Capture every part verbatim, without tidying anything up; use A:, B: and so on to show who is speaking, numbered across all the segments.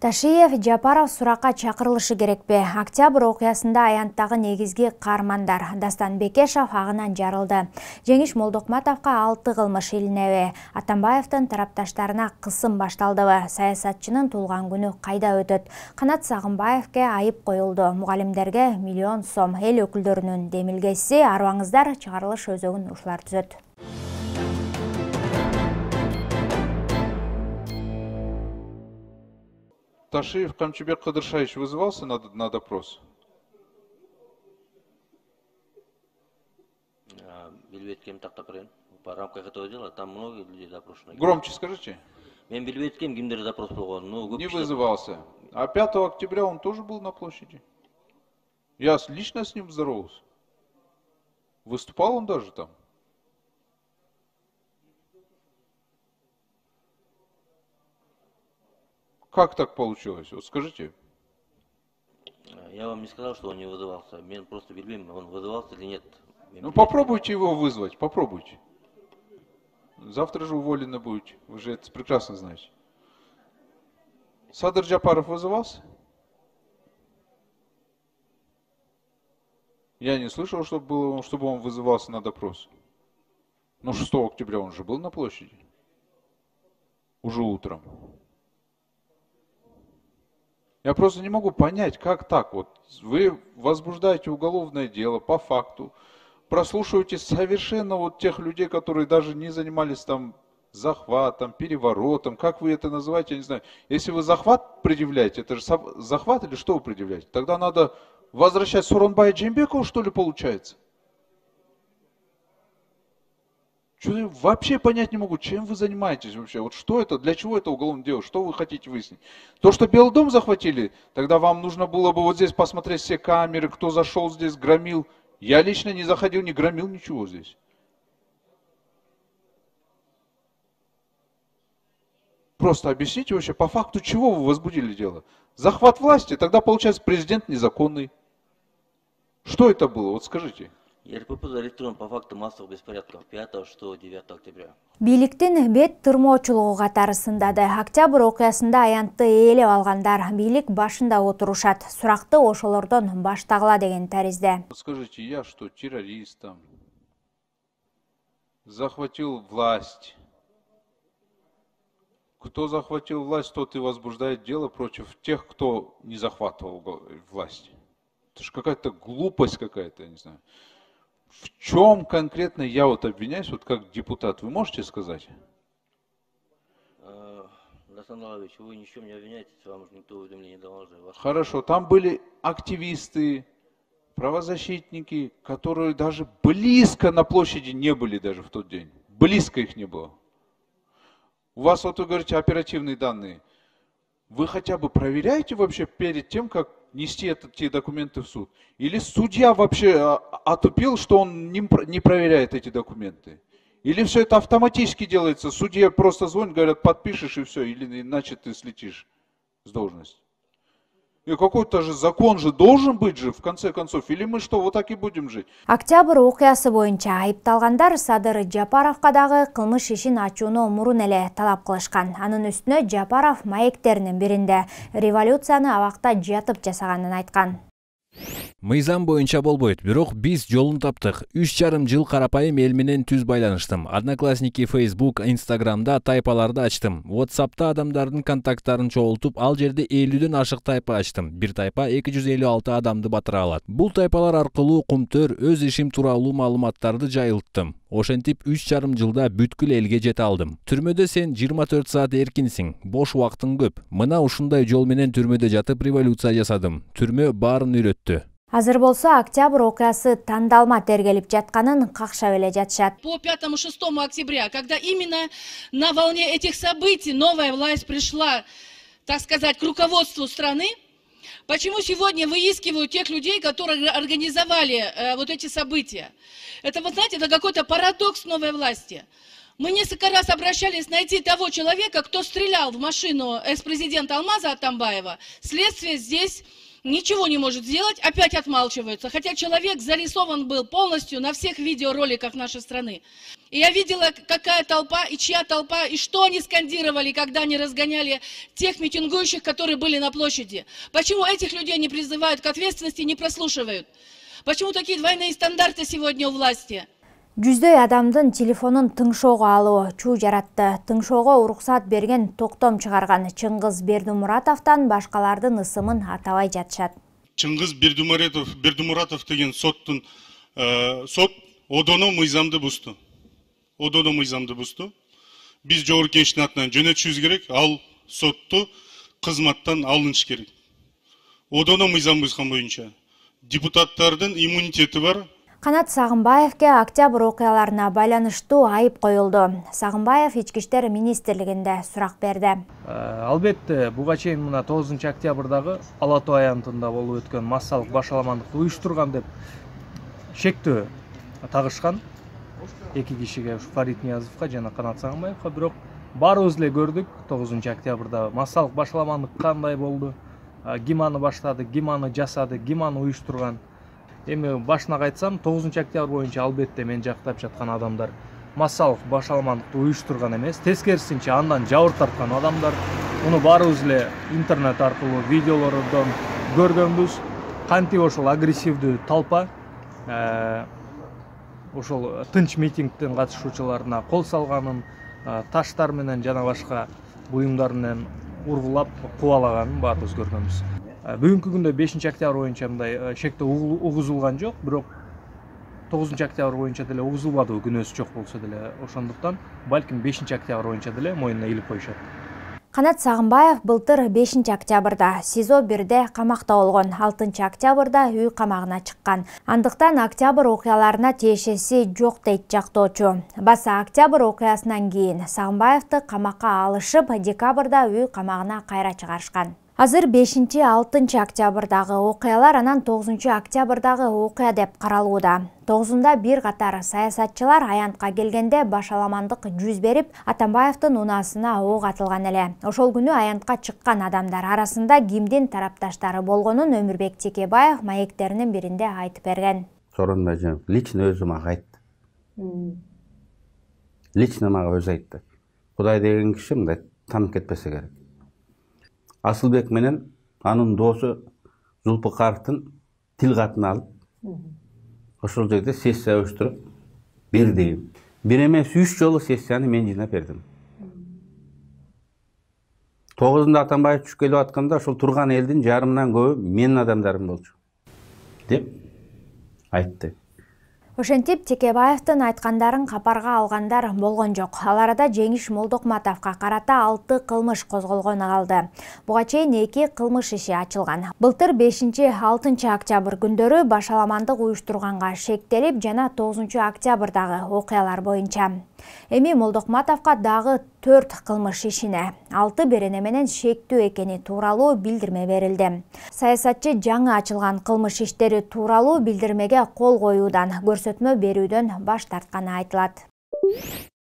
A: Ташиев Жапаров суракка чакырылышы керекпи? Октябрь окуясында аянттагы негизги каармандар Дастан Бекешев агынан жарылды. Жеңиш Молдокматовго алты кылмыш илинеби? Атамбаевдин тарапташтарына кысым башталдыбы? Саясатчынын туулган күнү кайда өтөт? Канат Сагынбаевге айып коюлду. Мугалимдерге миллион сом. Эл өкүлдөрүнүн демилгеси. Арыбаңыздар, чыгарылыш өзөгүн ушулар түзөт.
B: Ташиев Камчыбек Кыдыршаевич вызывался на, на допрос?
C: Билбеткем тактап берем. По рамках этого дела там многие люди допрошены.
B: Громче скажите.
C: Мен билбеткем кимдер допрос болгон. Ну,
B: не вызывался. А пятого октября он тоже был на площади. Я лично с ним здоровался. Выступал он даже там. Как так получилось? Вот скажите.
C: Я вам не сказал, что он не вызывался. Мне просто билбейм, он вызывался или нет.
B: Ну попробуйте его вызвать, попробуйте. Завтра же уволены будете. Вы же это прекрасно знаете. Садыр Жапаров вызывался? Я не слышал, чтобы, было, чтобы он вызывался на допрос. Но шестого октября он же был на площади. Уже утром. Я просто не могу понять, как так вот. Вы возбуждаете уголовное дело по факту, прослушиваете совершенно вот тех людей, которые даже не занимались там захватом, переворотом, как вы это называете, я не знаю. Если вы захват предъявляете, это же захват или что вы предъявляете? Тогда надо возвращать Сооронбая Жээнбекова, что ли, получается? Что я вообще понять не могу, чем вы занимаетесь вообще? Вот что это, для чего это уголовное дело, что вы хотите выяснить? То, что Белый дом захватили, тогда вам нужно было бы вот здесь посмотреть все камеры, кто зашел здесь, громил. Я лично не заходил, не громил ничего здесь. Просто объясните вообще, по факту чего вы возбудили дело? Захват власти, тогда получается президент незаконный. Что это было, вот скажите.
C: РПП зарегистрирован по факту массовых беспорядков пятого, шестого, девятого октября.
A: Бийликтин бет тырмоочулугу катары сындады. Октябрь окуясында аянтты ээлеп алгандар бийлик башында отурушат. Суракты ошолордон баштагыла деген таризде.
B: Скажите, я что, террористом? Захватил власть. Кто захватил власть, тот и возбуждает дело против тех, кто не захватывал власть. Это же какая-то глупость какая-то, я не знаю. В чем конкретно я вот обвиняюсь, вот как депутат, вы можете сказать?
C: Дастан Алавич, вы ни в чем не обвиняетесь, вам же никто уведомления не давал.
B: Хорошо, там были активисты, правозащитники, которые даже близко на площади не были даже в тот день. Близко их не было. У вас, вот вы говорите, оперативные данные. Вы хотя бы проверяете вообще перед тем, как нести эти документы в суд? Или судья вообще отупил, что он не проверяет эти документы? Или все это автоматически делается? Судья просто звонит, говорят, подпишешь и все, или иначе ты слетишь с должности. И какой-то же закон же должен быть же, в конце концов. Или мы что, вот так и будем жить?
A: Октябрь окуясы боюнча айыпталгандар Садыр Жапаровго дагы кылмыш ишин ачууну мурун эле талап кылышкан. Анын үстүнө Жапаров маектеринин биринде революцияны абакта жатып жасаганын айткан.
D: Мыйзам боюнча болбойт, бирок биз жолун таптык. үч жарым жыл карапайым эл менен түз байланыштым. Одноклассники, Facebook, Instagramда тайпаларды ачтым. WhatsAppта адамдардын контакттарын чогултуп, ал жерде элүүдөн ашык тайпа ачтым. Бир тайпа эки жүз элүү алты адамды батыра алат. Бул тайпалар аркылуу кумтөр өз ишим тууралуу маалыматтарды жайылттым. Ошентип үч жарым жылда бүткүл элге жете алдым. Түрмөдө сен жыйырма төрт саат эркинсиң, бош убактың көп. Мына ушундай жол менен түрмөдө жатып революция жасадым. Түрмө баарын үйрөттү.
A: Азыр болсо Октябрь окуясы тандалма тергелип жатканын какшап эле жатышат.
E: По пятому-шестому октября, когда именно на волне этих событий новая власть пришла, так сказать, к руководству страны, почему сегодня выискивают тех людей, которые организовали э, вот эти события? Это, вы знаете, это какой-то парадокс новой власти. Мы несколько раз обращались найти того человека, кто стрелял в машину экс-президента Алмаза Атамбаева. Следствие здесь ничего не может сделать, опять отмалчиваются. Хотя человек зарисован был полностью на всех видеороликах нашей страны. И я видела, какая толпа и чья толпа, и что они скандировали, когда они разгоняли тех митингующих, которые были на площади. Почему этих людей не призывают к ответственности, не прослушивают? Почему такие двойные стандарты сегодня у власти?
A: Жүздөй адамдын телефонун тыңшоого алуу чуу жаратты. Тыңшоого уруксат берген токтом чыгарган Чыңгыз Бердимуратовдон башкалардын ысымын атабай жатышат.
F: Чыңгыз Бердимуратов, Бердимуратов деген соттун э, сот одоно мыйзамды бузду. Одоно мыйзамды бузду. Биз жогорку кеңештин атынан жөнөтүшүбүз керек, ал сотту кызматтан алыныш керек. Одоно мыйзам бузган боюнча депутаттардын иммунитети бар.
A: Канат Сагынбаевке октябрь окуяларына байланыштуу айып коюлду. Сагынбаев Ички иштер министрлигинде сурак берди.
G: Албетте, буга чейин мына тогузунчу октябрдагы Ала Тоо аянтында болуп өткөн массалык башаламандыкты уюштурган деп шектөө тагышкан эки кишиге, Фарид Ниязовго жана Канат Сагынбаевга, бирок баарыбыз эле көрдүк тогузунчу октябрда массалык башаламандык кандай болду, ким аны баштады, ким аны жасады, ким аны уюштурган. Эми башына кайтсам, тогузунчу октябрь боюнча албетте мен жактап жаткан адамдар массалык башаламандыкты уюштурган эмес, тескерисинче андан жабыр тарткан адамдар. Муну баарыбыз эле интернет аркылуу видеолордон көргөнбүз. Кантип ошол агрессивдүү толпа ошол тынч митингдин катышуучуларына кол салганын, таштар менен жана башка буюмдар менен ургулап кубалаганын баарыбыз көргөнбүз. Бүгүнкү күндө бешинчи октябрь боюнча мындай шектөө угузулган жок, бирок тогузунчу октябрь боюнча деле угузулбады, күнөөсү жок болсо деле. Ошондуктан балким бешинчи октябрь боюнча деле мойнуна илип коюшат.
A: Канат Сагынбаев былтыр бешинчи октябрда СИЗО бирде камакта болгон, алтынчы октябрда үй камагына чыккан. Андыктан октябрь окуяларына тиешеси жок дейт жактоочу. Баса октябрь окуясынан кийин Сагынбаевди камакка алышып, декабрда үй камагына кайра чыгарышкан. Азыр бешинчи алтынчы октябрдагы окуялар анан тогузунчу октябрдагы окуя деп каралууда. тогузунда бир катар саясатчылар аянтка келгенде башаламандык жүз берип, Атамбаевдин унаасына ок атылган эле. Ошол күнү аянтка чыккан адамдар арасында кимдин тарапташтары болгонун Өмүрбек Текебаев маектеринин биринде айтып берген.
H: Сооронбай Жээнбеков лично өзү мага айтты. Лично мага өзү айтты. Кудай деген киши мындай танып кетпесе керек. Асылбек менен анын доосу Зулпукаровдун тил катын алып, ошол жерде сессия уюштуруп берди. Бир эмес үч жолу сессияны мен жыйнап бердим. тогузунда Атамбаев түшүп келип атканда ошол турган элдин жарымынан көбү менин адамдарым болчу деп айтты.
A: Ошентип Текебаевдин айткандарын капарга алгандар болгон жок. Ал арада Жеңиш Молдокматовго карата алты кылмыш козголгону калды. Буга чейин эки кылмыш иши ачылган. Былтыр бешинчи алтынчы октябрь күндөрү башаламандык уюштурганга шектелип жана тогузунчу октябрдагы окуялар боюнча. Эми Молдокматовго дагы төрт кылмыш ишине алты берене менен шектүү экени тууралуу билдирме берилди. Саясатчы жаңы ачылган кылмыш иштери тууралуу билдирмеге кол коюудан, көрсөтмө берүүдөн баш тартканы айтылат.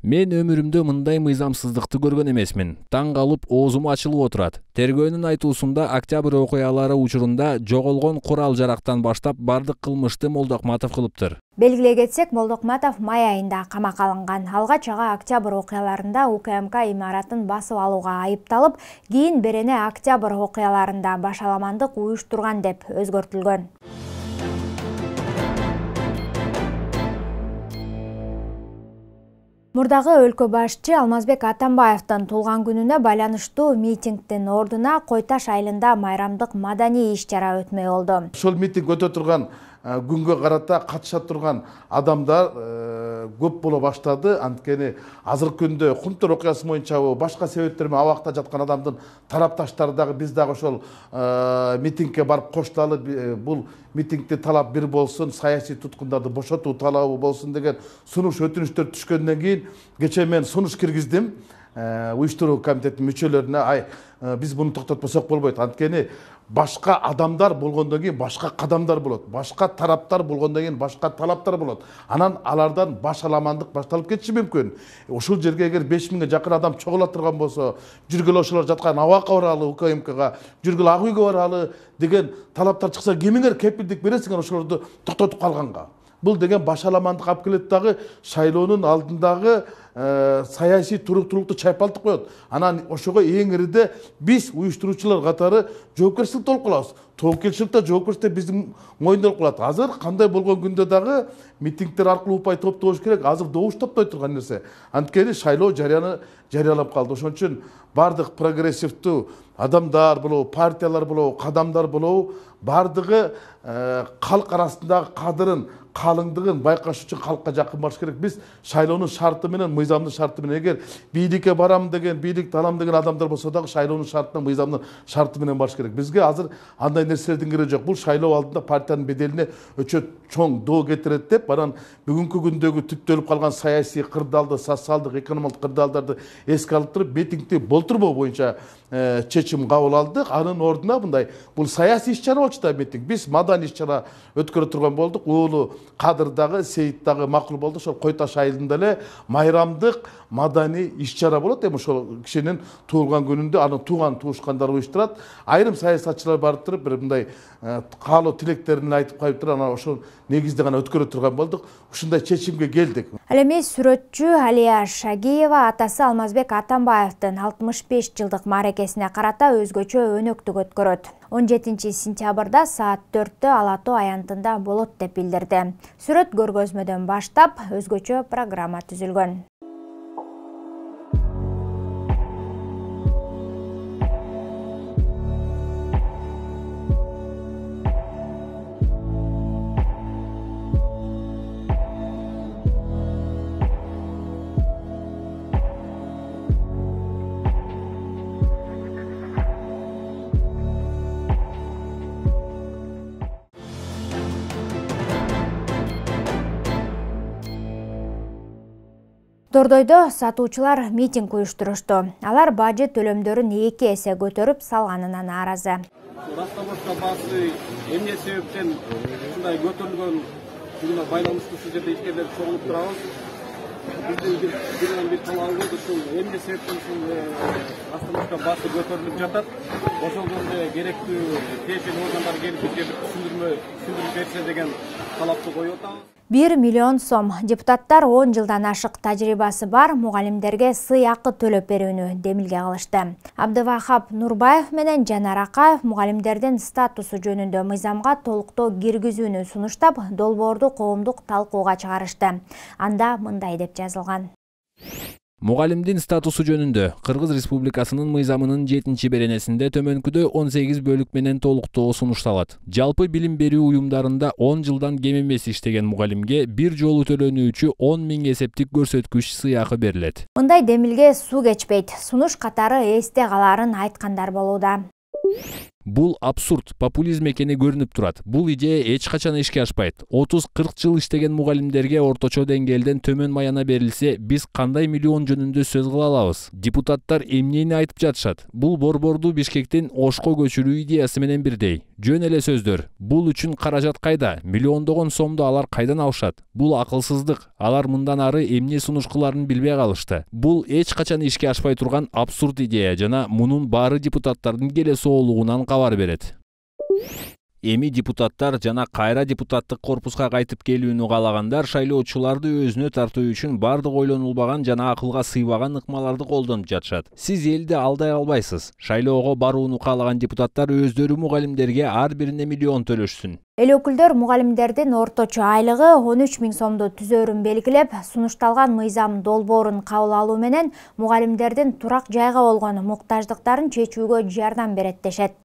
D: Мен өмүрүмдө мындай мыйзамсыздыкты көргөн эмесмин. Таң калып оозум ачылып отурат. Тергөөнүн айтуусунда октябрь окуялары учурунда жоголгон курал жарактан баштап бардык кылмышты Молдокматов кылыптыр.
A: Белгилей кетсек, Молдокматов май айында камакка алынган. Алгач ага октябрь окуяларында УКМК имаратын басып алууга айыпталып, кийин берене октябрь окуяларында башаламандык уюштурган деп өзгөртүлгөн. Мурдагы өлкө башчы Алмазбек Атамбаевдин туулган күнүнө байланыштуу митингдин ордуна Кой Таш айылында майрамдык маданий иш-чара өтмөй болду.
I: Ошол митинг өтө турган күнгө карата катыша турган адамдар көп боло баштады. Анткени азыркы күндө Кумтөр окуясы боюнча башка себептер менен абакта жаткан адамдын тарапташтары дагы биз дагы ошол митингге барып кошталы, бул митингди талап бир болсун, саясий туткундарды бошотуу талабы болсун деген сунуш өтүнүчтөр түшкөндөн кийин кечээ мен сунуш киргиздим. уюштуруу комитетинин мүчөлөрүнө ай биз буну токтотпосок болбойт. Анткени башка адамдар болгондон кийин башка кадамдар болот. Башка тараптар болгондон кийин башка талаптар болот. Анан алардан баш аламандык башталып кетиши мүмкүн. Ушул жерге эгер беш миңге жакын адам чогула турган болсо, жүргүлө ошолор жаткан абакка баралы, УКМКга, жүргүлө ак үйгө баралы деген талаптар чыкса, кимиңер кепилдик бересиңер ошолорду токтотуп калганга? Бул деген баш аламандык алып келет дагы, шайлоонун алдындагы саясий туруктуулукту чайпалтып коет. Анан ошого эң ириде биз уюштуруучулар катары жоопкерчиликти алып калабыз. Тобокелчиликте жоопкерчилик биздин мойнунда болуп калат. Азыр кандай болгон күндө дагы митингдер аркылуу упай топтош керек. Азыр добуш топтой турган нерсе. Анткени шайлоо жарыяны жарыялап калды. Ошон үчүн бардык прогрессивдүү адамдар болобу, партиялар болобу, кадамдар болобу, бардыгы калк арасындагы кадырын, калыңдыгын байкаш үчүн калкка жакын барыш керек. Биз шайлоонун шарты менен, мыйзамдын шарты менен, эгер бийликке барам деген, бийликти алам деген адамдар болсо дагы шайлоонун шартына, мыйзамдын шарты менен барыш керек. Бизге азыр андай нерселердин кереги жок. Бул шайлоо алдында партиянын беделине өчө чоң доо кетирет деп, анан бүгүнкү күндөгү түптөлүп калган саясий кырдаалды, социалдык, экономикалык кырдаалдарды эске алып туруп, митингди болтурбоо боюнча чечим кабыл алдык. Анын ордуна мындай бул саясий иш-чара болчу да митинг. Биз маданий иш-чара өткөрө турган болдук. Уулу Кадыр дагы, Сейит дагы макул болду. Ошол Кой Таш айылында эле майрамдык маданий иш-чара болот. Эми ошол кишинин туулган күнүндө анын тууган туушкандар уюштурат. Айрым саясатчылар барып туруп бир мындай каалоо тилектерин айтып коюп туруп, анан ошол негизде гана өткөрө турган болдук. Ушундай чечимге келдик.
A: Ал эми сүрөтчү Алия Шагиева атасы Алмазбек Атамбаевдин алтымыш беш жылдык мааракесине карата өзгөчө өнөктүк өткөрөт. он жетинчи сентябрда саат төрттө Ала Тоо аянтында болот деп билдирди. Сүрөт көргөзмөдөн баштап өзгөчө программа түзүлгөн. Дордойдо сатуучулар митинг уюштурушту. Алар бажы төлөмдөрүн эки эсе көтөрүп салганына нааразы.
J: Растабашка баасы эмне себептен ушундай көтөрүлгөн менен байланыштуу ушул жерде ишкерлер чогулуп турабыз. Биздин бир бир талабыбыз ушул эмне себептен ушул Растабашка баасы көтөрүлүп жатат. Ошондо керектүү тиешелүү органдар келип бизге бир түшүндүрмө түшүндүрүп берсе деген талапты коюп атабыз.
A: бир миллион сом. Депутаттар он жылдан ашык тажрыйбасы бар мугалимдерге сый акы төлөп берүүнү демилге кылышты. Абдывахап Нурбаев менен Жанар Акаев мугалимдердин статусу жөнүндө мыйзамга толуктоо киргизүүнү сунуштап, долбоорду коомдук талкууга чыгарышты. Анда мындай деп жазылган.
D: Мугалимдин статусу жөнүндө Кыргыз Республикасынын мыйзамынын жетинчи беренесинде төмөнкүдө он сегиз бөлүк менен толуктоо сунушталат. Жалпы билим берүү уюмдарында он жылдан кем эмес иштеген мугалимге бир жолу төлөнүүчү он миң эсептик көрсөткүч сый акы берилет.
A: Мындай демилге суу кечпейт. Сунуш катары эсте калаарын айткандар болууда.
D: Бул абсурд, популизм экени көрүнүп турат. Бул идея эч качан ишке ашпайт. отуз кырк жыл иштеген мугалимдерге орточо деңгээлден төмөн маяна берилсе, биз кандай миллион жөнүндө сөз кыла алабыз? Депутаттар эмнени айтып жатышат? Бул борборду Бишкектен Ошко көчүрүү идеясы менен бирдей. Жөн эле сөздөр. Бул үчүн каражат кайда? Миллиондогон сомду алар кайдан алышат? Бул акылсыздык. Алар мындан ары эмне сунуш кыларын билбей калышты. Бул эч качан ишке ашпай турган абсурд идея жана мунун баары депутаттардын келесоолугунан кабар берет. Эми депутаттар жана кайра депутаттык корпуска кайтып келүүнү каалагандар шайлоочуларды өзүнө тартуу үчүн бардык ойлонулбаган жана акылга сыйбаган ыкмаларды колдонуп жатышат. Сиз элди алдай албайсыз. Шайлоого барууну каалаган депутаттар өздөрү мугалимдерге ар бирине миллион төлөшсүн.
A: Эл өкүлдөр мугалимдердин орточо айлыгы он үч миң сомду түзөрүн белгилеп, сунушталган мыйзам долбоорун кабыл алуу менен мугалимдердин турак жайга болгон муктаждыктарын чечүүгө жардам берет дешет.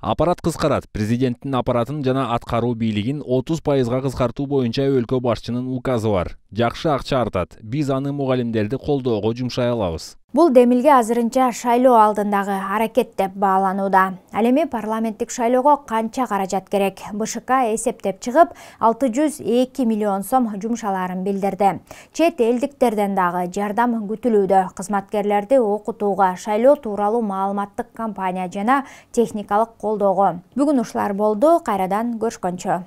D: Аппарат кыскарат. Президенттин аппаратын жана аткаруу бийлигин отуз пайызга кыскартуу боюнча өлкө башчынын указы бар. Жакшы акча артат. Биз аны мугалимдерди колдоого жумшай алабыз.
A: Бул демилге азырынча шайлоо алдындагы аракет деп бааланууда. Ал эми парламенттик шайлоого канча каражат керек? БШК эсептеп чыгып, алты жүз эки миллион сом жумшаларын билдирди. Чет элдиктерден дагы жардам күтүлүүдө. Кызматкерлерди окутууга, шайлоо тууралуу маалыматтык кампания жана техникалык колдоого. Бүгүн ушулар болду. Кайрадан көрүшкөнчө.